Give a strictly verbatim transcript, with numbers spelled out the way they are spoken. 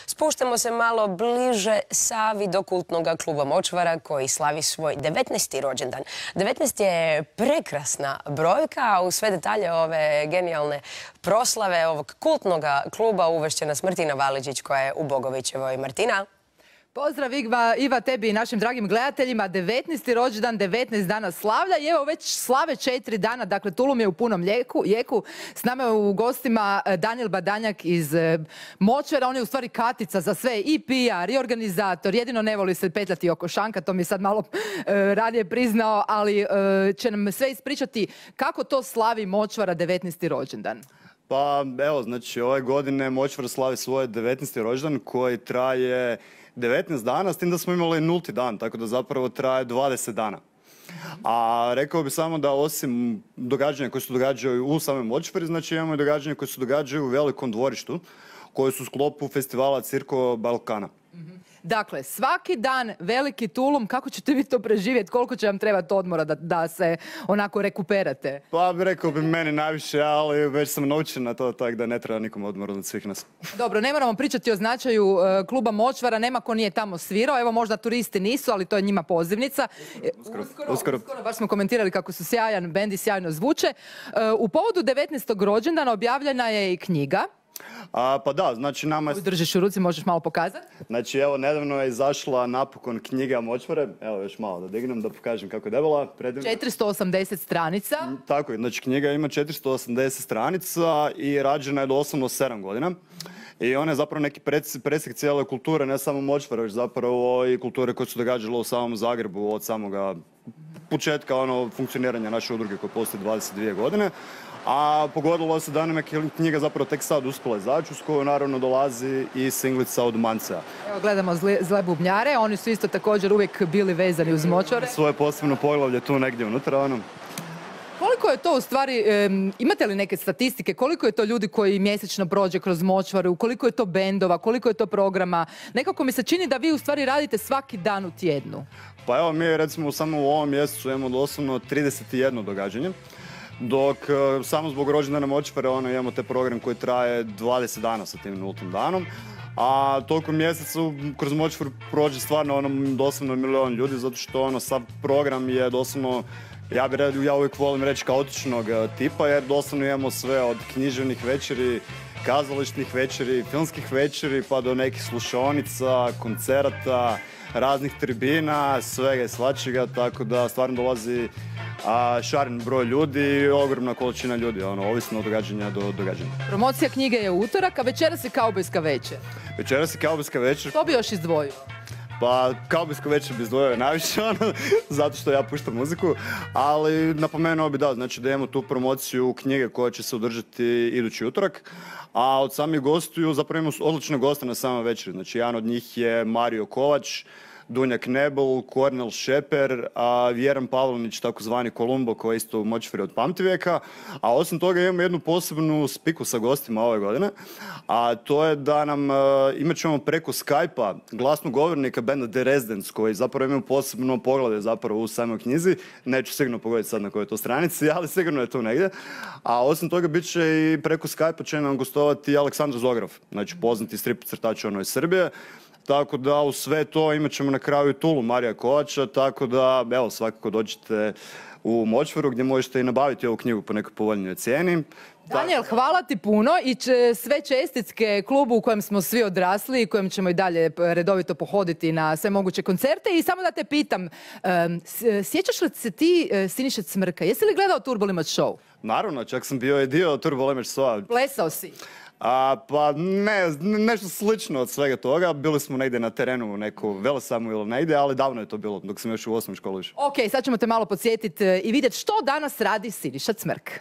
Spuštamo se malo bliže Savi do kultnog kluba Močvara koji slavi svoj devetnaesti rođendan. devetnaest je prekrasna brojka, a u sve detalje ove genijalne proslave ovog kultnog kluba uvešće nas Martina Valiđić koja je u Bogovićevoj. Martina? Pozdrav Iva, Iva tebi i našim dragim gledateljima. devetnaesti rođendan, devetnaest dana slavlja i evo već slave četiri dana, dakle Tulum je u punom jeku. jeku. S nama je u gostima Danijel Badanjak iz Močvara, on je u stvari katica za sve, i P R, i organizator, jedino ne voli se petljati oko šanka, to mi je sad malo e, ranije priznao, ali e, će nam sve ispričati kako to slavi Močvara devetnaesti rođendan. Pa evo, znači ove godine Močvar slavi svoj devetnaesti rođendan koji traje devetnaest dana, s tim da smo imali nulti dan, tako da zapravo traje dvadeset dana. A rekao bi samo da osim događanja koje se događaju u samoj Močvari, znači imamo i događanja koje se događaju u velikom dvorištu, koje su u sklopu festivala Circo Balkana. Dakle, svaki dan veliki Tulum, kako ćete vi to preživjeti? Koliko će vam trebati odmora da, da se onako rekuperate? Pa rekao bi meni najviše, ali već sam naučen na to, tako da ne treba nikom odmora od svih nas. Dobro, ne moramo pričati o značaju uh, kluba Močvara, nema ko nije tamo svirao, evo možda turisti nisu, ali to je njima pozivnica. Uskoro, uskoro, uskoro. uskoro baš smo komentirali kako su sjajan bend i sjajno zvuče. Uh, u povodu devetnaestog rođendana objavljena je i knjiga. A, pa da, znači nama je... Držiš u ruci, možeš malo pokazati? Znači evo, nedavno je izašla napokon knjiga Močvare. Evo još malo da dignem da pokažem kako je debela. Predivna. četiristo osamdeset stranica. Tako je, znači knjiga ima četiristo osamdeset stranica i rađena je doslovno sedam godina. I ona je zapravo neki presjek cijele kulture, ne samo Močvara, već zapravo i kulture koje su događale u samom Zagrebu od samoga početka ono, funkcioniranja naše udruge koje postoji dvadeset dvije godine. A pogodilo se da nam je knjiga zapravo tek sad uspjela izaći, uz koju naravno dolazi i singlica od Mancea. Evo gledamo zle, zle bubnjare, oni su isto također uvijek bili vezani uz Močvare. Svoje posebno poglavlje tu negdje unutra. Ono. Koliko je to u stvari, um, imate li neke statistike, koliko je to ljudi koji mjesečno prođe kroz Močvaru, koliko je to bendova, koliko je to programa? Nekako mi se čini da vi u stvari radite svaki dan u tjednu. Pa evo mi recimo samo u ovom mjesecu imamo doslovno trideset jedno događanje. Dok samo zbog rođendana Močvare ono, imamo te program koji traje dvadeset dana sa tim nultim danom. A toliko mjesecu kroz Močvaru prođe stvarno ono, doslovno milion ljudi, zato što ono, sav program je doslovno, ja, bi, ja uvijek volim reći kaotičnog tipa, jer doslovno imamo sve od književnih večeri, kazališnih večeri, filmskih večeri, pa do nekih slušaonica, koncerata, raznih tribina, svega i svačega, tako da stvarno dolazi a, šaren broj ljudi i ogromna količina ljudi, ono, ovisno od događanja do događanja. Promocija knjige je utorak, a večeras je kaubojska večer. Večeras je kaubojska večer. Što bi još izdvojio? Pa kaubojsku večer bi izdvojio najviše, ono, zato što ja puštam muziku, ali napomenuo bi da, znači da imamo tu promociju knjige koja će se održati idući utorak, a od samih gostiju zapravo imamo odlične goste na samoj večeri, znači jedan od njih je Mario Kovač, Dunja Knebel, Kornel Šeper, a Vjeran Pavlonić, takozvani Kolumbo, koji je isto u Močvari od pamtivijeka. A osim toga imamo jednu posebnu spiku sa gostima ove godine, a to je da nam uh, imat ćemo preko Skype-a glasnog govornika benda The Residents, koji zapravo imaju posebno poglavlje zapravo u samoj knjizi. Neću sigurno pogoditi sad na kojoj je to stranici, ali sigurno je tu negdje. A osim toga bit će i preko Skype-a će nam gostovati Aleksandar Zograf, znači poznati strip crtač ono iz Srbije. Tako da u sve to imat ćemo na kraju i Tulum Marija Kovača, tako da evo svakako dođete u Močvaru gdje možete i nabaviti ovu knjigu po nekoj povoljnijoj cijeni. Danijel, hvala ti puno i će sve čestitke klubu u kojem smo svi odrasli i kojem ćemo i dalje redovito pohoditi na sve moguće koncerte. I samo da te pitam, um, sjećaš li se ti uh, Siniše Cmrka? Jesi li gledao Turbo Limać show? Naravno, čak sam bio i dio Turbo Limać showa. Plesao si? A, pa ne, nešto slično od svega toga. Bili smo negdje na terenu u neku Velesamu ili negdje, ali davno je to bilo, dok sam još u osnovnoj školi išao. Ok, sad ćemo te malo podsjetiti i vidjeti što danas radi Siniša Cmrk.